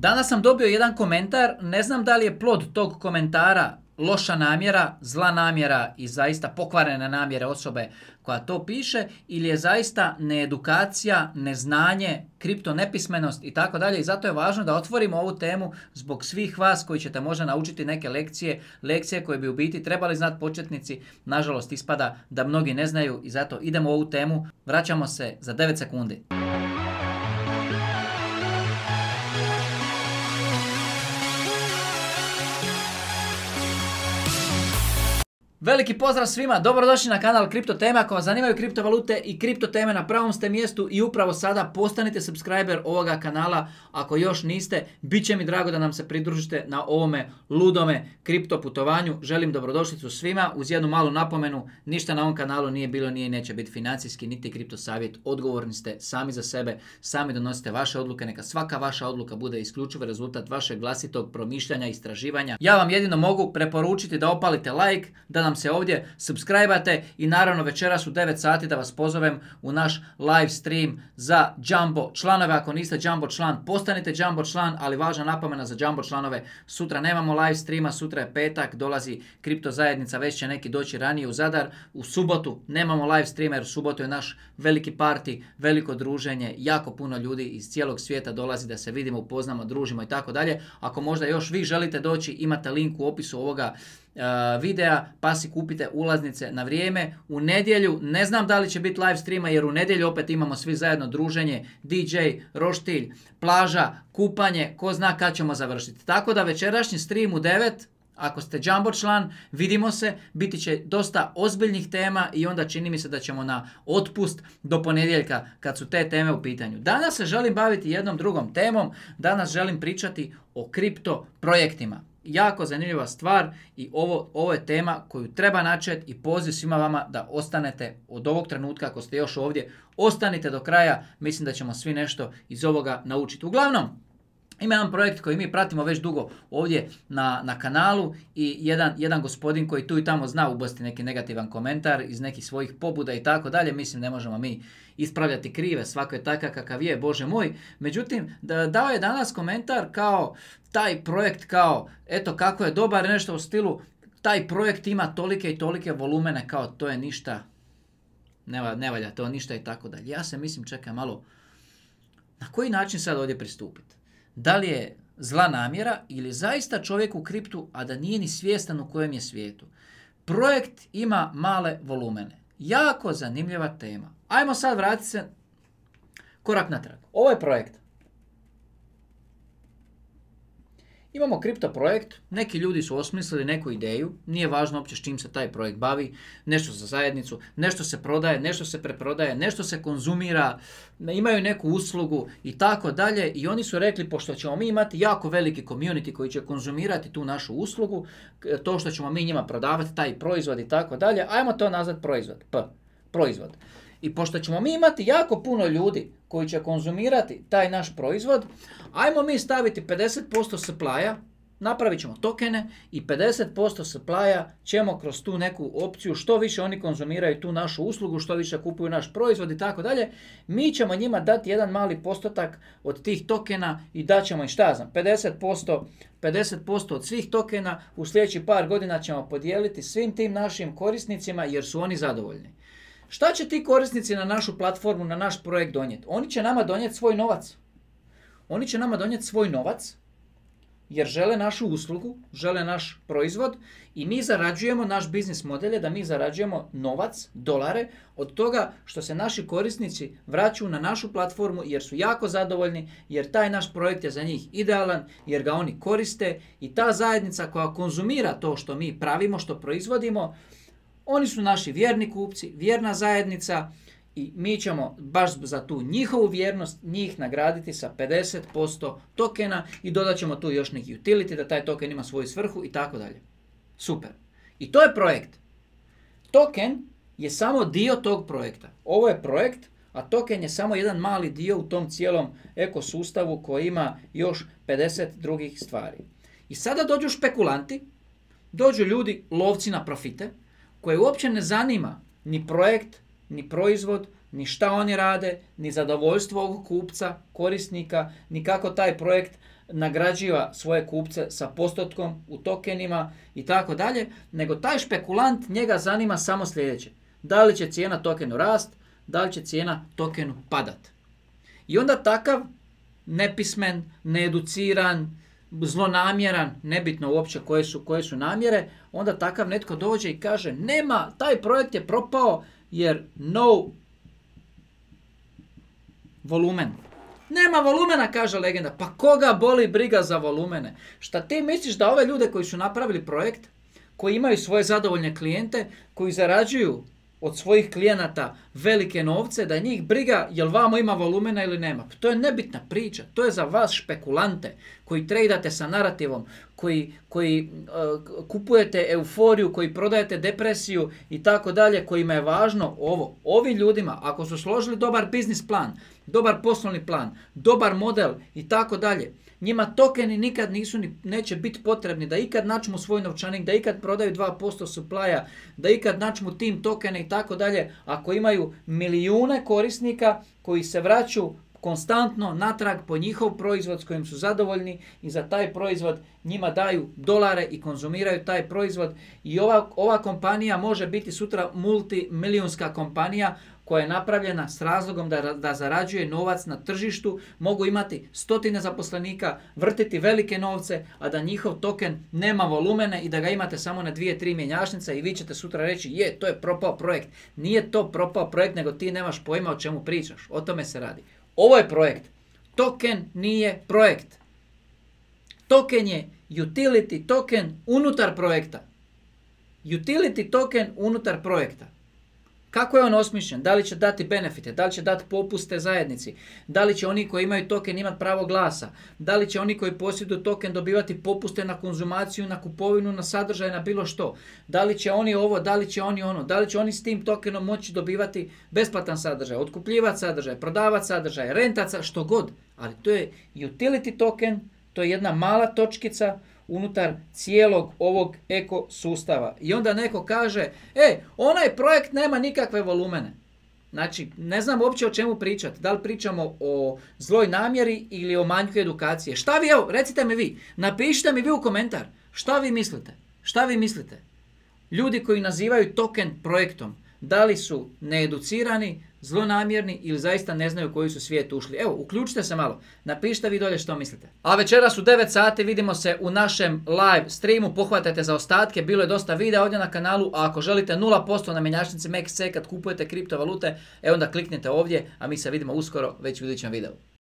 Danas sam dobio jedan komentar, ne znam da li je plod tog komentara loša namjera, zla namjera i zaista pokvarene namjere osobe koja to piše ili je zaista needukacija, neznanje, kripto nepismenost i tako dalje. I zato je važno da otvorimo ovu temu zbog svih vas koji ćete možda naučiti neke lekcije koje bi u biti trebali znati početnici. Nažalost ispada da mnogi ne znaju i zato idemo u ovu temu. Vraćamo se za 9 sekundi. Veliki pozdrav svima, dobrodošli na kanal Kripto Teme. Ako vas zanimaju kriptovalute i kripto teme, na pravom ste mjestu i upravo sada postanite subscriber ovoga kanala. Ako još niste, bit će mi drago da nam se pridružite na ovome ludome kripto putovanju. Želim dobrodošlicu svima uz jednu malu napomenu, ništa na ovom kanalu nije bilo, nije i neće biti financijski niti kripto savjet. Odgovorni ste sami za sebe, sami donosite vaše odluke, neka svaka vaša odluka bude isključivo rezultat vašeg vlastitog promišljanja, istraživanja. Ja vam jedino mogu preporučiti da opalite like, da nam se ovdje subscribe-ate i naravno večeras u 9 sati da vas pozovem u naš live stream za Jumbo članove. Ako niste Jumbo član, postanite Jumbo član, ali važna napomena za Jumbo članove, sutra nemamo live streama, sutra je petak, dolazi kripto zajednica, već će neki doći ranije u Zadar. U subotu nemamo live streama jer u subotu je naš veliki party, veliko druženje, jako puno ljudi iz cijelog svijeta dolazi da se vidimo, upoznamo, družimo i tako dalje. Ako možda još vi želite doći, imate link u opisu ovoga videa, pa si kupite ulaznice na vrijeme. U nedjelju ne znam da li će biti live streama jer u nedjelju opet imamo svi zajedno druženje, DJ, roštilj, plaža, kupanje, ko zna kad ćemo završiti. Tako da večerašnji stream u 9, ako ste Jumbo član, vidimo se, biti će dosta ozbiljnih tema i onda čini mi se da ćemo na otpust do ponedjeljka kad su te teme u pitanju. Danas se želim baviti jednom drugom temom, danas želim pričati o kripto projektima. Jako zanimljiva stvar i ovo je tema koju treba načeti i poziv svima vama da ostanete od ovog trenutka, ako ste još ovdje, ostanite do kraja, mislim da ćemo svi nešto iz ovoga naučiti. Uglavnom, ima jedan projekt koji mi pratimo već dugo ovdje na kanalu i jedan gospodin koji tu i tamo zna ubaciti neki negativan komentar iz nekih svojih pobuda i tako dalje. Mislim, ne možemo mi ispravljati krive, svako je takav kakav je, Bože moj. Međutim, dao je danas komentar kao taj projekt kao, eto kako je dobar, nešto u stilu, taj projekt ima tolike i tolike volumene, kao to je ništa, ne valja to ništa i tako dalje. Ja se mislim, čekaj malo, na koji način sad ovdje pristupiti? Da li je zla namjera ili zaista čovjek u kriptu, a da nije ni svjestan u kojem je svijetu? Projekt ima male volumene. Jako zanimljiva tema. Ajmo sad vratiti se korak natrag. Ovo je projekt. Imamo kripto projekt, neki ljudi su osmislili neku ideju, nije važno uopće s čim se taj projekt bavi, nešto za zajednicu, nešto se prodaje, nešto se preprodaje, nešto se konzumira, imaju neku uslugu i tako dalje i oni su rekli, pošto ćemo mi imati jako veliki community koji će konzumirati tu našu uslugu, to što ćemo mi njima prodavati, taj proizvod i tako dalje, ajmo to nazvati proizvod. I pošto ćemo mi imati jako puno ljudi koji će konzumirati taj naš proizvod, ajmo mi staviti 50% supply-a, napravit ćemo tokene i 50% supply-a ćemo kroz tu neku opciju, što više oni konzumiraju tu našu uslugu, što više kupuju naš proizvod i tako dalje, mi ćemo njima dati jedan mali postotak od tih tokena i daćemo im, šta znam, 50% od svih tokena u sljedećih par godina ćemo podijeliti svim tim našim korisnicima jer su oni zadovoljni. Šta će ti korisnici na našu platformu, na naš projekt donijeti? Oni će nama donijeti svoj novac. Oni će nama donijeti svoj novac jer žele našu uslugu, žele naš proizvod i mi zarađujemo, naš biznis model je da mi zarađujemo novac, dolare, od toga što se naši korisnici vraćaju na našu platformu jer su jako zadovoljni, jer taj naš projekt je za njih idealan, jer ga oni koriste i ta zajednica koja konzumira to što mi pravimo, što proizvodimo, oni su naši vjerni kupci, vjerna zajednica i mi ćemo baš za tu njihovu vjernost njih nagraditi sa 50% tokena i dodat ćemo tu još neki utility da taj token ima svoju svrhu i tako dalje. Super. I to je projekt. Token je samo dio tog projekta. Ovo je projekt, a token je samo jedan mali dio u tom cijelom ekosustavu koji ima još 50 drugih stvari. I sada dođu špekulanti, dođu ljudi, lovci na profite, koje uopće ne zanima ni projekt, ni proizvod, ni šta oni rade, ni zadovoljstvo ovog kupca, korisnika, ni kako taj projekt nagrađiva svoje kupce sa postotkom u tokenima i tako dalje, nego taj špekulant njega zanima samo sljedeće. Da li će cijena tokenu rast, da li će cijena tokenu padat. I onda takav nepismen, needuciran, zlonamjeran, nebitno uopće koje su namjere, onda takav netko dođe i kaže nema, taj projekt je propao jer no volumen. Nema volumena, kaže legenda. Pa koga boli briga za volumene? Šta ti misliš da ove ljude koji su napravili projekt, koji imaju svoje zadovoljne klijente, koji zarađuju od svojih klijenata velike novce, da njih briga jel vamo ima volumena ili nema? Pa to je nebitna priča. To je za vas špekulante koji tradate sa narativom, koji kupujete euforiju, koji prodajete depresiju i tako dalje, kojima je važno ovo. Ovim ljudima, ako su složili dobar biznis plan, dobar poslovni plan, dobar model i tako dalje, njima tokeni nikad neće biti potrebni, da ikad načmu svoj novčanik, da ikad prodaju 2% supply-a, da ikad načmu tim tokene i tako dalje, ako imaju milijune korisnika koji se vraćaju konstantno natrag po njihov proizvod s kojim su zadovoljni i za taj proizvod njima daju dolare i konzumiraju taj proizvod i ova kompanija može biti sutra multimilijunska kompanija koja je napravljena s razlogom da zarađuje novac na tržištu, mogu imati stotine zaposlenika, vrtiti velike novce, a da njihov token nema volumene i da ga imate samo na 2-3 mjenjačnice i vi ćete sutra reći to je propao projekt. Nije to propao projekt, nego ti nemaš pojma o čemu pričaš. O tome se radi. Ovo je projekt. Token nije projekt. Token je utility token unutar projekta. Utility token unutar projekta. Kako je on osmišljen? Da li će dati benefite? Da li će dati popuste zajednici? Da li će oni koji imaju token imati pravo glasa? Da li će oni koji posjeduju token dobivati popuste na konzumaciju, na kupovinu, na sadržaj, na bilo što? Da li će oni ovo, da li će oni ono? Da li će oni s tim tokenom moći dobivati besplatan sadržaj, otkupljivati sadržaj, prodavati sadržaj, rentati, što god? Ali to je utility token, to je jedna mala točkica unutar cijelog ovog ekosustava. I onda neko kaže, onaj projekt nema nikakve volumene. Znači, ne znam uopće o čemu pričati. Da li pričamo o zloj namjeri ili o manjku edukacije. Šta vi, recite mi vi, napišite mi vi u komentar. Šta vi mislite? Šta vi mislite? Ljudi koji nazivaju token projektom, da li su needucirani, zlonamjerni ili zaista ne znaju koji su svijet ušli. Evo, uključite se malo. Napišite vi dolje što mislite. A večeras u 9 sati vidimo se u našem live streamu. Pohvatajte za ostatke. Bilo je dosta videa ovdje na kanalu. A ako želite 0% na mjenjačnici MEXC kad kupujete kriptovalute, onda kliknite ovdje. A mi se vidimo uskoro već u idućem videu.